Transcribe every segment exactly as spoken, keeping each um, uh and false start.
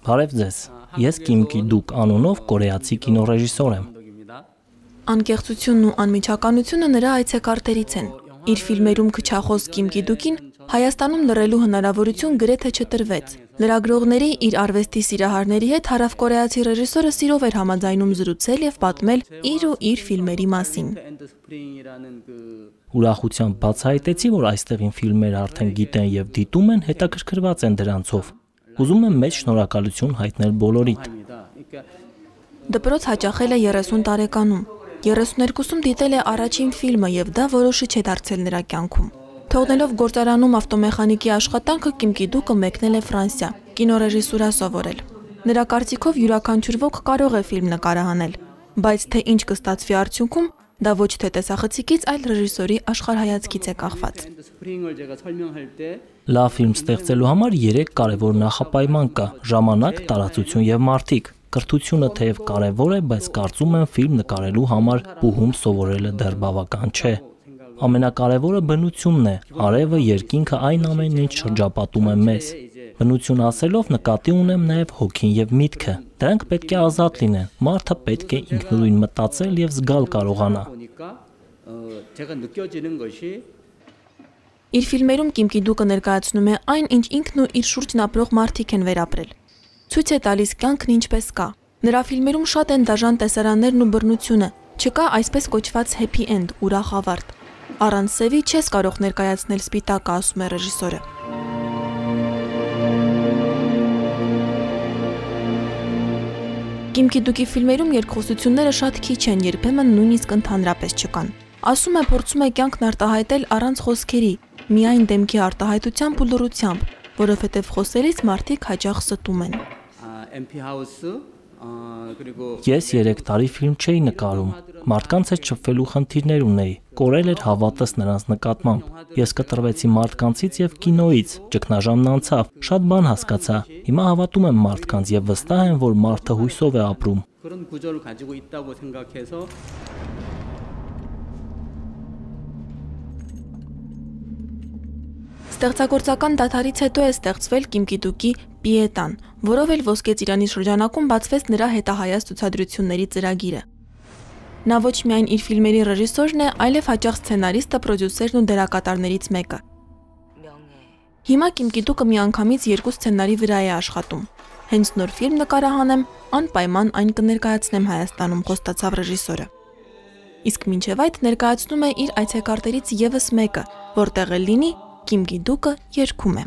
Բարև ձեզ, ես Կիմ Կի-դուկ անունով կորեացի կինոռեժիսոր եմ։ Անկեղծությունն ու անմիջականությունը նրա այցեկարտերից են։ Իր ֆիլմերում քչախոս Կիմ Կի-դուկին Հայաստանում լռելու հնարավորություն գրեթե չտրվեց։ Լրագրողների իր արվեստի սիրահարների հետ հարավկորեացի ռեժիսորը սիրով էր համաձայնում զրուցել եւ պատմել իր ու իր ֆիլմերի մասին։ Ուրախությամբ բացահայտեցի, որ այստեղ իմ ֆիլմերը արդեն գիտեն եւ դիտում են, հետաքրքրված են դրանցով։ Ուզում եմ մեծ շնորհակալություն հայտնել բոլորիդ։ Դպրոց հաճախել է երեսուն տարեկանում։ երեսուներկուսում դիտել է առաջին ֆիլմը եւ դա որոշիչ է դարձել նրա կյանքում։ Թողնելով գործարանում ավտոմեխանիկի աշխատանքը Կիմ Կի-դուկը մեկնել է Ֆրանսիա, կինոռեժիսուրա սովորել։ Նրա կարծիքով յուրաքանչյուր ոք կարող է ֆիլմ նկարահանել, բայց թե ինչ կստացվի արդյունքում, դա ոչ թե տեսախցիկից, այլ ռեժիսորի աշխարհայացքից է կախված։ Լավ ֆիլմ ստեղծելու համար երեք կարևոր նախապայման կա՝ ժամանակ, տարածություն եւ մարդիկ։ Կրթությունը թեև կարևոր է, բայց կարծում եմ ֆիլմ նկարելու համար բուհում սովորելը դեռ բավական չէ։ Ամենակարևորը բնությունն է, արևը, երկինքը, այն ամենն ինչ շրջապատում է մեզ։ Բնություն ասելով նկատի ունեմ նաև հոգին եւ միտքը։ Դրանք պետք է ազատ լինեն։ Մարդը պետք է ինքնուրույն մտածել եւ զգալ կարողանա։ Իր ֆիլմերում Կիմ Կի-դուկը ներկայացնում է այն, ինչ ինքն ու իր շուրջն ապրող մարդիկ են վերապրել։ Ցույց է տալիս կյանքն ինչպես կա։ Նրա ֆիլմերում շատ են դաժան տեսարաններն ու բռնությունը։ Չկա այսպես կոչված happy end, ուրախ ավարտ։ Առանց սևի չես կարող ներկայացնել սպիտակը, ասում է ռեժիսորը։ Կիմ Կի-դուկի ֆիլմերում երկխոսությունները շատ քիչ են, երբեմն նույնիսկ ընդհանրապես չկան։ Ասում է, փորձում է կյանքն արտահայտել առանց խոսքերի, միայն դեմքի արտահայտությամբ ու լռությամբ, որովհետև խոսելիս մարդիկ հաճախ ստում են։ Ես երեք տարի ֆիլմ չէի նկարում։ Մարդկանց հետ շփվելու խնդիրներ ունեի։ Կորել էր հավատս նրանց նկատմամբ։ Ես կտրվեցի մարդկանցից եւ կինոյից։ Ճգնաժամն անցավ, շատ բան հասկացա։ Հիմա հավատում եմ մարդկանց եւ վստահ եմ, որ մարդը հույսով է ապրում։ Ստեղծագործական դադարից հետո է ստեղծվել Կիմ Կի-դուկի Պիետան, որով էլ Ոսկե ծիրանի շրջանակում բացվեց նրա հետահայաց ցուցադրությունների ծրագիրը։ Նա ոչ միայն իր ֆիլմերի ռեժիսորն է, այլև հաճախ սցենարիստը, պրոդյուսերն ու դերակատարներից մեկը։ Հիմա Կիմ Կի-դուկը միանգամից երկու սցենարի վրա է աշխատում։ Հենց նոր ֆիլմ նկարահանեմ, անպայման այն կներկայացնեմ Հայաստանում, խոստացավ ռեժիսորը։ Իսկ մինչև այդ ներկայացնում է իր այցեկարտերից եւս մեկը, որտեղ էլ լինի Կիմ Կի-դուկը երգում է։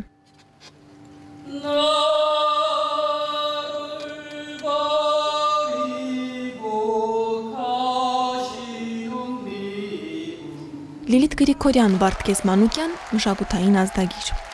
Լիլիթ Գրիգորյան, Վարդգես Մանուկյան, մշակութային ազդագիր։